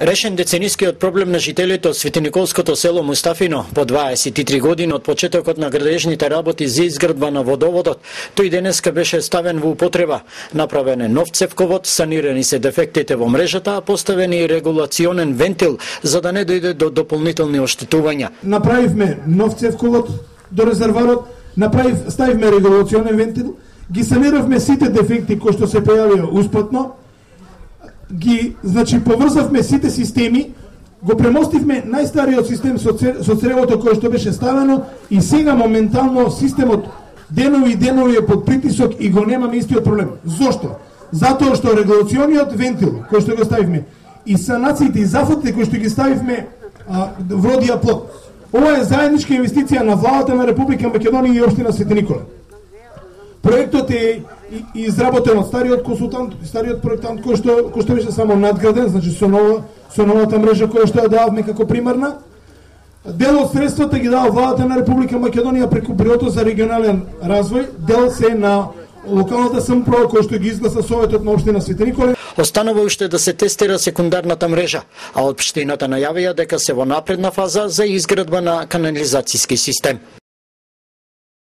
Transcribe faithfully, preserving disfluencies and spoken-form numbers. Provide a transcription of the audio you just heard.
Решен деценискиот проблем на жителите од Светиниколското село Мустафино по дваесет и три години од почетокот на градежните работи за изградба на водоводот, тој денеска беше ставен во употреба. Направен е нов цевковод, санирани се дефектите во мрежата, а поставен и регулационен вентил за да не дојде до дополнителни оштетувања. Направивме нов цевковод до резерварот, направив ставивме регулационен вентил, ги саниравме сите дефекти кои што се појавија успатно, ги, значи, поврзавме сите системи, го премостивме најстариот систем со, со цревото кое што беше ставено и сега моментално системот денови и денови е под притисок и го немаме истиот проблем. Зошто? Затоа што регулациониот вентил кој што го ставивме и санациите и зафатите кои што ги ставивме а, вродија плод. Ова е заедничка инвестиција на владата на Република Македонија и општина Свети Никола. Проектот е изработен од стариот консултант, стариот проектант кој што кој што беше само надграден, значи со нова со новата мрежа која што ја дававме како примарна. Дел од средствата ги дава владата на Република Македонија преку Бирото за регионален развој, дел се на локалната самоуправа која што ги изгласа Советот на општина Свети Никола. Останува уште да се тестира секундарната мрежа, а општината најавија дека се во напредна фаза за изградба на канализацијски систем.